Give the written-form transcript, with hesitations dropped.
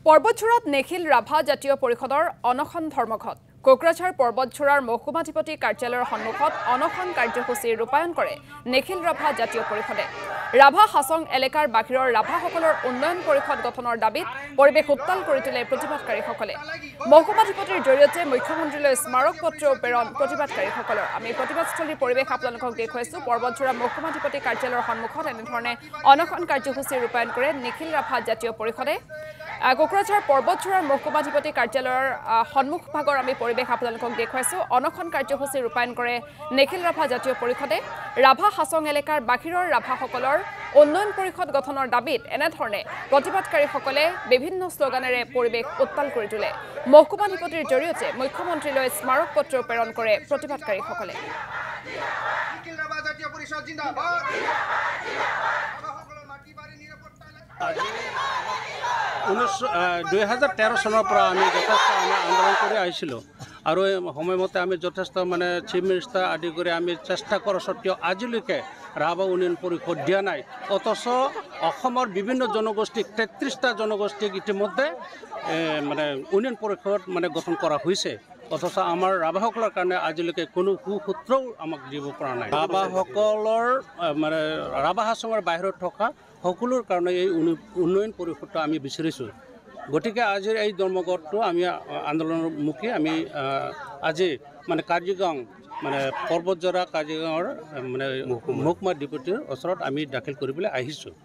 পৰ্বতঝোৰাত নিখিল ৰাভা জাতীয় পৰিষদৰ অনশন ধৰ্মঘট। কোকৰাঝাৰ পৰ্বতঝোৰাৰ মহকুমাধিপতি কাৰ্যালয়ৰ সন্মুখত অনশন কাৰ্যসূচী ৰূপায়ণ কৰে নিখিল ৰাভা জাতীয় পৰিষদে। ৰাভা হাছং এলেকাৰ বাহিৰৰ ৰাভাসকলৰ উন্নয়ন পৰিষদ গঠনৰ দাবীত পৰিৱেশ উত্তাল কৰি তোলে প্ৰতিবাদকাৰীসকলে। মহকুমাধিপতিৰ জৰিয়তে মুখ্যমন্ত্ৰীলৈ স্মাৰক পত্ৰও প্ৰেৰণ প্ৰতিবাদকাৰীসকলৰ। আমি প্ৰতিবাদস্থলীৰ পৰিৱেশ আপোনালোকক দেখুৱাইছোঁ। পৰ্বতঝোৰা মহকুমাধিপতি কাৰ্যালয়ৰ সন্মুখত এনেধৰণে অনশন কাৰ্যসূচী ৰূপায়ণ কৰে নিখিল ৰাভা জাতীয় পৰিষদে। কোকৰাঝাৰ পৰ্বতঝোৰাৰ মহকুমাধিপতি কাৰ্যালয়ৰ সন্মুখভাগৰ আমি পৰিৱেশ আপোনালোকক দেখুৱাইছোঁ। অনশন কাৰ্যসূচী ৰূপায়ণ কৰে নিখিল ৰাভা জাতীয় পৰিষদে। ৰাভা হাছং এলেকাৰ বাহিৰৰ ৰাভাসকলৰ উন্নয়ন পৰিষদ গঠনৰ দাবীত এনেধৰণে প্ৰতিবাদকাৰীসকলে বিভিন্ন শ্লোগানেৰে পৰিৱেশ উত্তাল কৰি তোলে। মহকুমাধিপতিৰ জৰিয়তে মুখ্যমন্ত্ৰীলৈ স্মাৰক পত্ৰ প্ৰেৰণ কৰে প্ৰতিবাদকাৰীসকলে। 2013 চনৰ পৰা আমি যথেষ্ট আমি আন্দোলন কৰি আহিছিলোঁ আৰু সময়মতে আমি যথেষ্ট মানে চিফ মিনিষ্টাৰ আদি কৰি আমি চেষ্টা কৰাৰ সত্ত্বেও আজিলৈকে ৰাভা উন্নয়ন পৰিষদ দিয়া নাই। অথচ অসমৰ বিভিন্ন জনগোষ্ঠীক 33টা জনগোষ্ঠীক ইতিমধ্যে মানে উন্নয়ন পৰিষদ মানে গঠন কৰা হৈছে, অথচ আমাৰ ৰাভাসকলৰ কাৰণে আজিলৈকে কোনো সুসূত্ৰও আমাক দিব পৰা নাই। ৰাভাসকলৰ মানে ৰাভা হাছঙৰ বাহিৰত থকা সকলোৰ কাৰণে এই উন্নয়ন পৰিষদটো আমি বিচাৰিছোঁ। গতিকে আজিৰ এই ধৰ্মঘটটো আমি আন্দোলনমুখী আমি আজি মানে কাজিৰঙা মানে পৰ্বতঝৰা কাজিৰঙাৰ মানে মহকুমাধিপতিৰ ওচৰত আমি দাখিল কৰিবলৈ আহিছোঁ।